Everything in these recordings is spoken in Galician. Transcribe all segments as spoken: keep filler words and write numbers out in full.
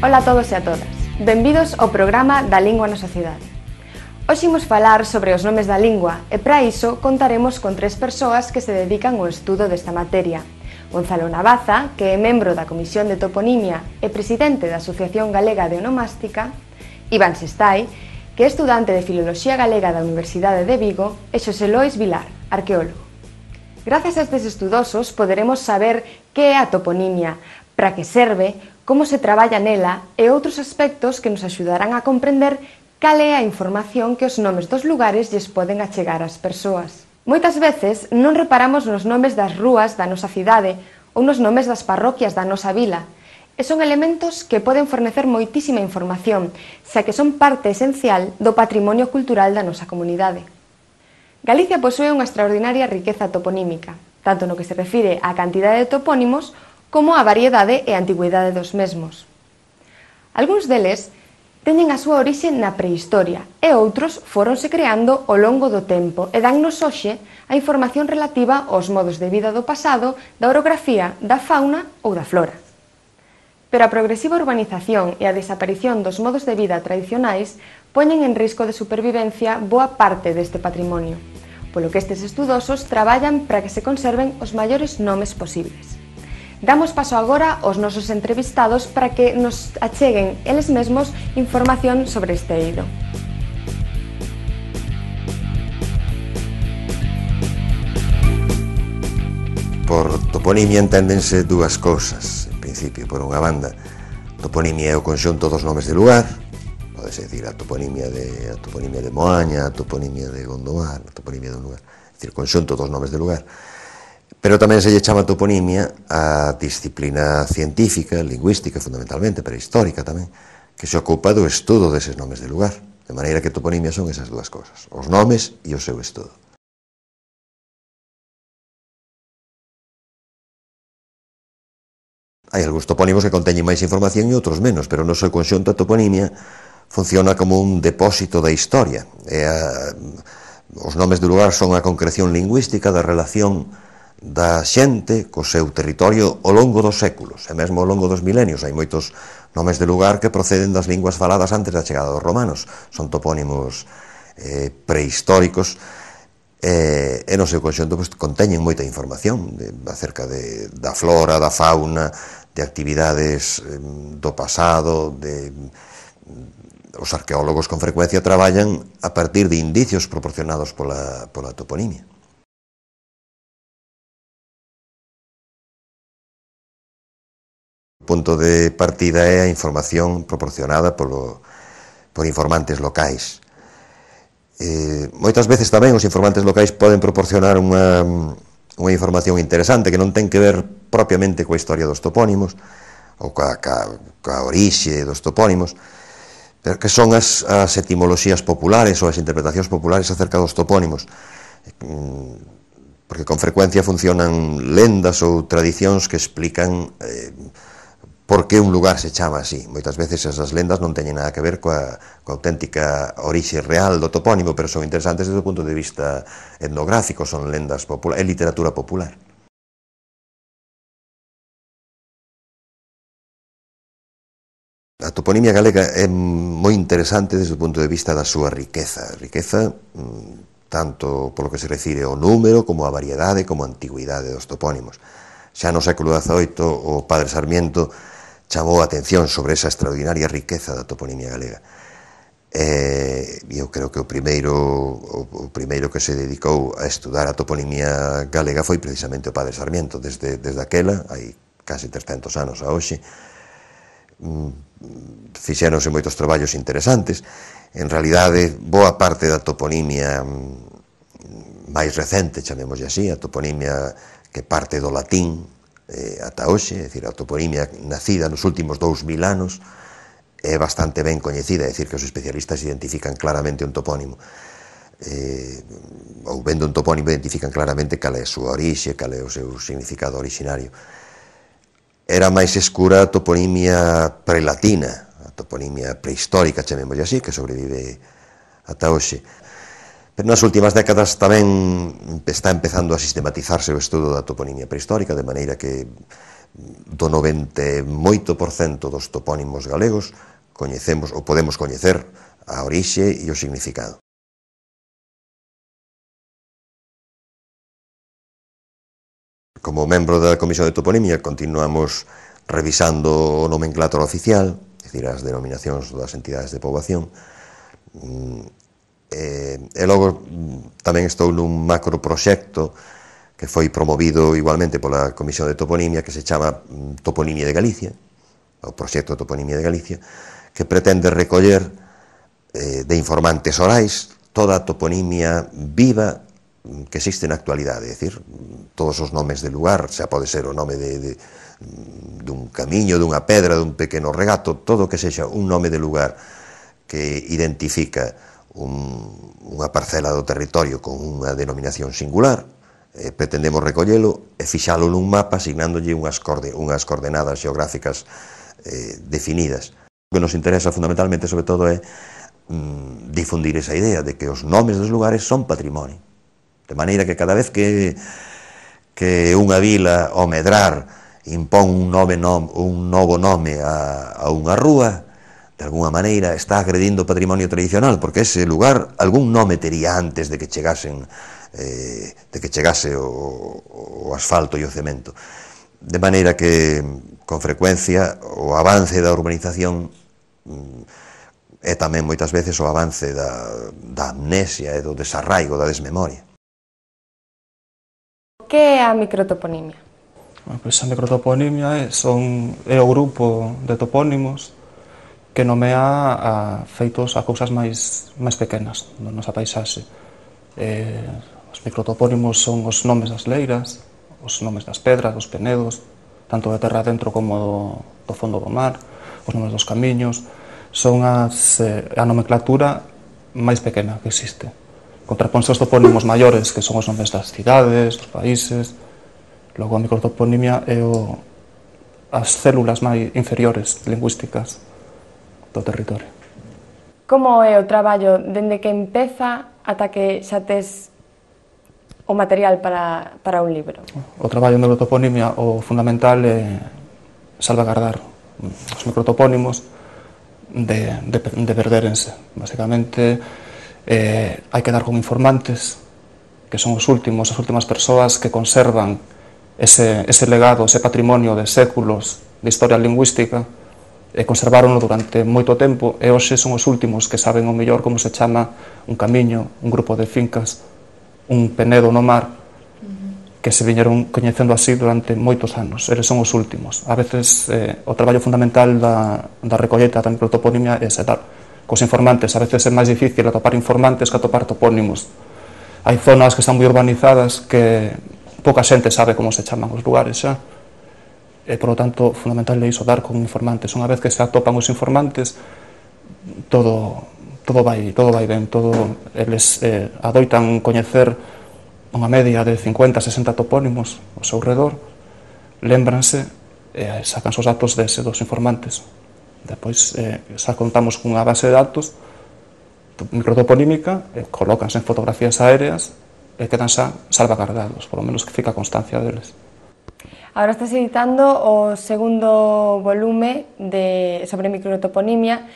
Ola a todos e a todas, benvidos ao programa da Lingua na Sociedade. Hoxe imos falar sobre os nomes da lingua e para iso contaremos con tres persoas que se dedican ao estudo desta materia. Gonzalo Navaza, que é membro da Comisión de Toponimia e presidente da Asociación Galega de Onomástica, Iván Sestai, que é estudante de Filoloxía Galega da Universidade de Vigo, e Xosé Lois Vilar, arqueólogo. Grazas a estes estudosos poderemos saber que é a toponimia, para que serve, como se traballa nela e outros aspectos que nos axudarán a comprender cal é a información que os nomes dos lugares lles poden achegar ás persoas. Moitas veces non reparamos nos nomes das rúas da nosa cidade ou nos nomes das parroquias da nosa vila, e son elementos que poden fornecer moitísima información, xa que son parte esencial do patrimonio cultural da nosa comunidade. Galicia posúe unha extraordinaria riqueza toponímica, tanto no que se refire á cantidade de topónimos como a variedade e antigüidade dos mesmos. Algúns deles teñen a súa orixe na prehistoria e outros foronse creando ao longo do tempo e dannos hoxe a información relativa aos modos de vida do pasado, da orografía, da fauna ou da flora. Pero a progresiva urbanización e a desaparición dos modos de vida tradicionais poñen en risco de supervivencia boa parte deste patrimonio, polo que estes estudosos traballan para que se conserven os maiores nomes posibles. Damos paso agora aos nosos entrevistados para que nos acheguen eles mesmos información sobre este eido. Por toponimia enténdense dúas cousas. En principio, por unha banda, toponimia é o conxunto dos nomes de lugar, podese dicir a toponimia de, a toponimia de Moaña, a toponimia de Gondomar, a toponimia dun lugar, é dicir, conxunto dos nomes de lugar. Pero tamén se lle chama toponimia a disciplina científica, lingüística fundamentalmente, pero histórica tamén, que se ocupa do estudo deses nomes de lugar. De maneira que toponimia son esas dúas cousas, os nomes e o seu estudo. Hai algúns topónimos que conteñen máis información e outros menos, pero no seu conxunto a toponimia funciona como un depósito da historia. E a, os nomes de lugar son a concreción lingüística da relación da xente co seu territorio ao longo dos séculos, e mesmo ao longo dos milenios. Hai moitos nomes de lugar que proceden das linguas faladas antes da chegada dos romanos, son topónimos eh, prehistóricos, e, e no seu conxunto pues, conteñen moita información de, acerca de, da flora, da fauna, de actividades eh, do pasado, de, os arqueólogos con frecuencia traballan a partir de indicios proporcionados pola, pola toponimia. O punto de partida é a información proporcionada polo, por informantes locais. Eh, moitas veces tamén os informantes locais poden proporcionar unha, unha información interesante que non ten que ver propiamente coa historia dos topónimos ou coa, coa, coa orixe dos topónimos, pero que son as, as etimoloxías populares ou as interpretacións populares acerca dos topónimos, porque con frecuencia funcionan lendas ou tradicións que explican eh, por que un lugar se chama así. Moitas veces esas lendas non teñen nada que ver coa, coa auténtica orixe real do topónimo, pero son interesantes desde o punto de vista etnográfico, son lendas populares, é literatura popular. A toponimia galega é moi interesante desde o punto de vista da súa riqueza. Riqueza tanto polo que se refire ao número, como a variedade, como a antigüidade dos topónimos. Xa no século dezaoito, o padre Sarmiento chamou a atención sobre esa extraordinaria riqueza da toponimia galega. E eu creo que o primeiro, o primeiro que se dedicou a estudar a toponimia galega foi precisamente o padre Sarmiento. Desde, desde aquela, hai casi trescentos anos a hoxe, fixéronse moitos traballos interesantes. En realidade, boa parte da toponimia máis recente, chamémoslle así, a toponimia que parte do latín eh, ata hoxe, é dicir, a toponimia nacida nos últimos dous mil anos, é bastante ben coñecida, é dicir, que os especialistas identifican claramente un topónimo. Eh, ou vendo un topónimo identifican claramente cal é a súa orixe, cal é o seu significado originario. Era máis escura a toponimia prelatina, a toponimia prehistórica, chamémoslle así, que sobrevive ata hoxe. Pero nas últimas décadas tamén está empezando a sistematizarse o estudo da toponimia prehistórica, de maneira que do noventa e oito por cento dos topónimos galegos coñecemos ou podemos coñecer a orixe e o significado. Como membro da Comisión de Toponimia continuamos revisando o nomenclátor oficial, é dicir, as denominacións das entidades de poboación, e, e logo tamén estou nun macro proxecto que foi promovido igualmente pola Comisión de Toponimia, que se chama Toponimia de Galicia, o proxecto de Toponimia de Galicia, que pretende recoller eh, de informantes orais toda a toponimia viva que existe na actualidade, é dicir, todos os nomes de lugar, xa pode ser o nome de, de, dun camiño, dunha pedra, dun pequeno regato, todo o que sexa un nome de lugar que identifica un, unha parcela do territorio con unha denominación singular, eh, pretendemos recollelo e fixalo nun mapa asignándolle unhas, coorde, unhas coordenadas xeográficas eh, definidas. O que nos interesa fundamentalmente, sobre todo, é mm, difundir esa idea de que os nomes dos lugares son patrimonio. De maneira que cada vez que, que unha vila ao medrar impón un, nove nom, un novo nome a, a unha rúa, de alguna maneira está agredindo o patrimonio tradicional, porque ese lugar algún nome tería antes de que chegasen eh, de que chegase o, o asfalto e o cemento. De maneira que, con frecuencia, o avance da urbanización é tamén moitas veces o avance da, da amnesia e do desarraigo, da desmemoria. Que é a microtoponimia? Bueno, pois a microtoponimia é, son, é o grupo de topónimos que nomea a feitos a cousas máis, máis pequenas da nosa paisaxe. Eh, os microtopónimos son os nomes das leiras, os nomes das pedras, dos penedos, tanto de terra dentro como do, do fondo do mar, os nomes dos camiños, son as, eh, a nomenclatura máis pequena que existe. Contraponse os topónimos maiores, que son os nomes das cidades, dos países. Logo a microtoponimia é o, as células máis inferiores lingüísticas do territorio. Como é o traballo dende que empeza ata que xa tes o material para, para un libro? O traballo de microtoponimia, o fundamental é salvagardar os microtopónimos de, de, de perderense. Basicamente, eh, hai que dar con informantes, que son os últimos, as últimas persoas que conservan ese, ese legado, ese patrimonio de séculos de historia lingüística, e conserváronlo durante moito tempo, e hoxe son os últimos que saben o mellor como se chama un camiño, un grupo de fincas, un penedo no mar, que se viñeron coñecendo así durante moitos anos. Eles son os últimos. A veces eh, o traballo fundamental da, da recolleta da microtoponimia é dar cos informantes. A veces é máis difícil atopar informantes que atopar topónimos. Hai zonas que están moi urbanizadas que pouca xente sabe como se chaman os lugares xa. E, por lo tanto, fundamental é iso, dar con informantes. Unha vez que se atopan os informantes, todo, todo, vai, todo vai ben. Todo, eles eh, adoitan coñecer unha media de cincuenta a sesenta topónimos ao seu redor, lémbranse e sacan os datos dese dos informantes. Depois eh, xa contamos cunha base de datos microtoponímica, e colócanse en fotografías aéreas e quedan xa salvaguardados, por lo menos que fica constancia deles. Agora estás editando o segundo volume de, sobre microtoponimia,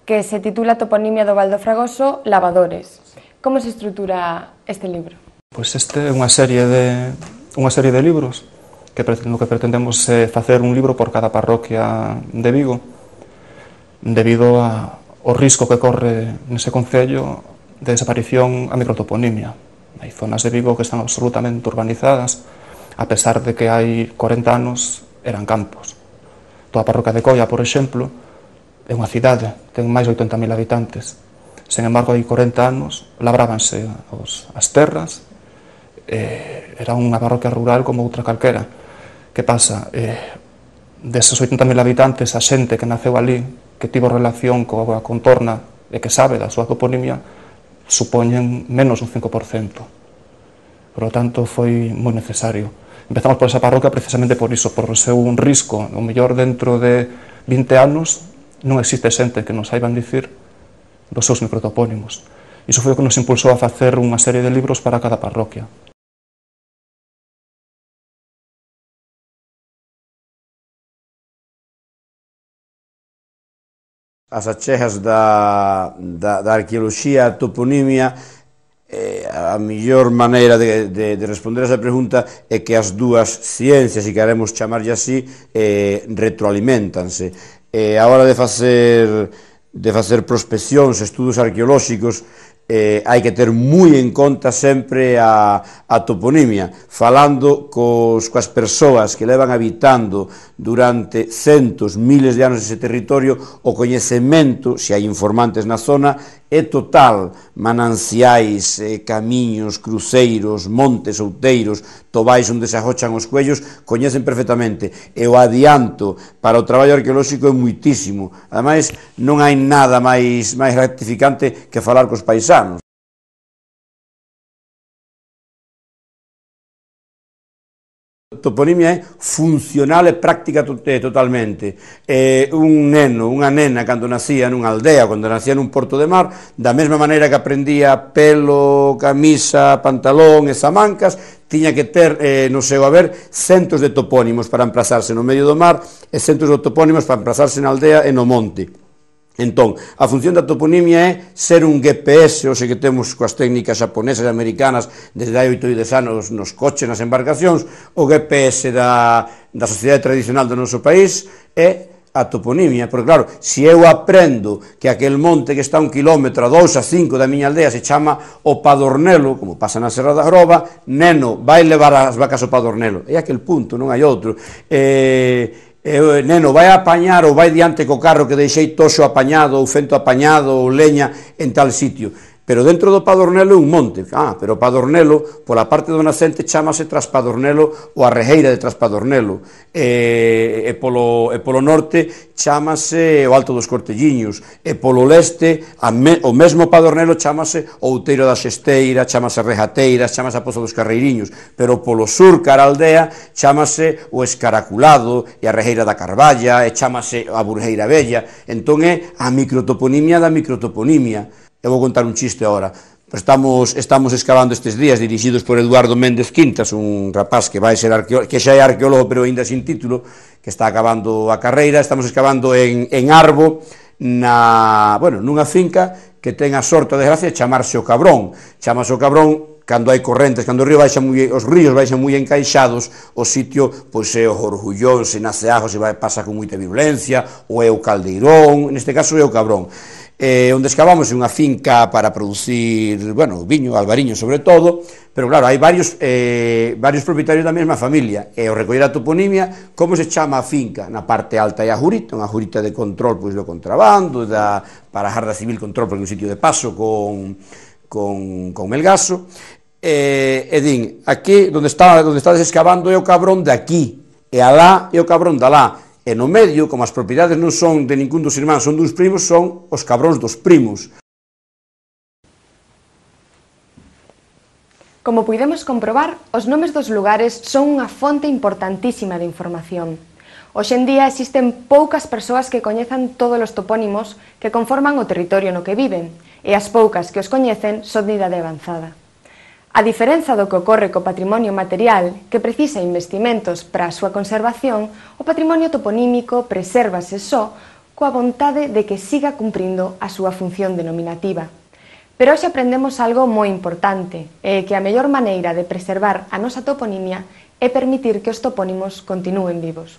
que se titula Toponimia do Val do Fragoso, Lavadores. Como se estrutura este libro? Pois este é unha serie de, unha serie de libros que no que pretendemos é facer un libro por cada parroquia de Vigo, debido a, ao risco que corre nese concello de desaparición a microtoponimia. Hai zonas de Vigo que están absolutamente urbanizadas, a pesar de que hai corenta anos eran campos. Toda a parroquia de Coia, por exemplo, é unha cidade, ten máis de oitenta mil habitantes. Sen embargo, hai corenta anos labrábanse os, as terras eh, era unha parroquia rural como outra calquera. Que pasa? Eh, deses oitenta mil habitantes, a xente que naceu ali, que tivo relación coa contorna e que sabe da súa toponimia, supoñen menos un cinco por cento. Por lo tanto, foi moi necesario. Empezamos por esa parroquia precisamente por iso, por ser un risco. O mellor dentro de vinte anos non existe xente que nos saiban dicir dos seus microtopónimos. Iso foi o que nos impulsou a facer unha serie de libros para cada parroquia. As achegas da, da, da arqueoloxía, a toponimia, eh, a mellor maneira de, de, de responder a esa pregunta é que as dúas ciencias, se queremos chamarlle así, eh, retroalimentanse. Eh, a hora de facer, de facer prospeccións, estudos arqueolóxicos, eh, hai que ter moi en conta sempre a, a toponimia, falando cos, coas persoas que levan habitando durante centos, miles de anos ese territorio. O coñecemento, se hai informantes na zona, é total. Mananciais, eh, camiños, cruceiros, montes, outeiros, tobais onde se agochan os cuellos, coñecen perfectamente, e o adianto para o traballo arqueolóxico é muitísimo. Ademais, non hai nada máis, máis gratificante que falar cos paisanos. A toponimia é funcional e práctica totalmente. Eh, un neno, unha nena, cando nacía nunha aldea, cando nacía nun porto de mar, da mesma maneira que aprendía pelo, camisa, pantalón e zamancas, tiña que ter eh, no seu haber centos de topónimos para emplazarse no medio do mar e centos de topónimos para emplazarse na aldea e no monte. Entón, a función da toponimia é ser un G P S, o sei que temos coas técnicas xaponesas e americanas desde hai oito e dez anos nos coches, nas embarcacións. O G P S da, da sociedade tradicional do noso país é a toponimia, porque claro, se eu aprendo que aquel monte que está a un kilómetro, a dous, a cinco da miña aldea se chama o Padornelo, como pasa na Serra da Groba, neno, vai levar as vacas ao Padornelo, é aquel punto, non hai outro. Eh... E o neno vai a apañar ou vai diante co carro que deixei toxo apañado ou fento apañado ou leña en tal sitio. Pero dentro do Padornelo é un monte. Ah, pero o Padornelo, pola parte do nacente, chamase Traspadornelo ou a Rejeira de Traspadornelo. E, e, polo, e polo norte chamase o Alto dos Cortelliños. E polo leste, a me, o mesmo Padornelo chamase o Outeiro da Xesteira, chamase Rejateiras, chamase a Pozo dos Carreiriños. Pero polo sur, cara a aldea, chamase o Escaraculado e a Rejeira da Carballa, e chamase a Burjeira Bella. Entón é a microtoponimia da microtoponimia. Eu vou contar un chiste agora. Estamos, estamos excavando estes días, dirixidos por Eduardo Méndez Quintas, un rapaz que vai ser arqueólogo, que xa é arqueólogo, pero ainda sin título, que está acabando a carreira. Estamos excavando en, en Arbo, na, bueno, nunha finca que ten a sorte de desgracia de chamarse o Cabrón. Chamase o Cabrón cando hai correntes, cando o río baixa moi, os ríos baixan moi encaixados, o sitio pois é o Orgullón, se nace ajo, se vai, pasa con moita virulencia, ou é o Caldeirón, neste caso é o Cabrón. Eh, onde excavamos unha finca para producir, bueno, viño, albariño sobre todo, pero claro, hai varios, eh, varios propietarios da mesma familia, e ao recoller a toponimia, como se chama a finca? Na parte alta é a jurita, unha jurita de control pois do contrabando, da, para a Garda Civil control, porque é un sitio de paso con, con, con Melgaso, e, e din, aquí, onde está, onde estades excavando é o Cabrón de aquí, e alá é o Cabrón de alá. E no medio, como as propiedades non son de ningún dos irmáns, son dos primos, son os cabróns dos primos. Como puidemos comprobar, os nomes dos lugares son unha fonte importantísima de información. Hoxe en día existen poucas persoas que coñezan todos os topónimos que conforman o territorio no que viven, e as poucas que os coñecen son de idade avanzada. A diferenza do que ocorre co patrimonio material, que precisa investimentos para a súa conservación, o patrimonio toponímico presérvase só coa vontade de que siga cumprindo a súa función denominativa. Pero hoxe aprendemos algo moi importante, e que a mellor maneira de preservar a nosa toponimia é permitir que os topónimos continúen vivos.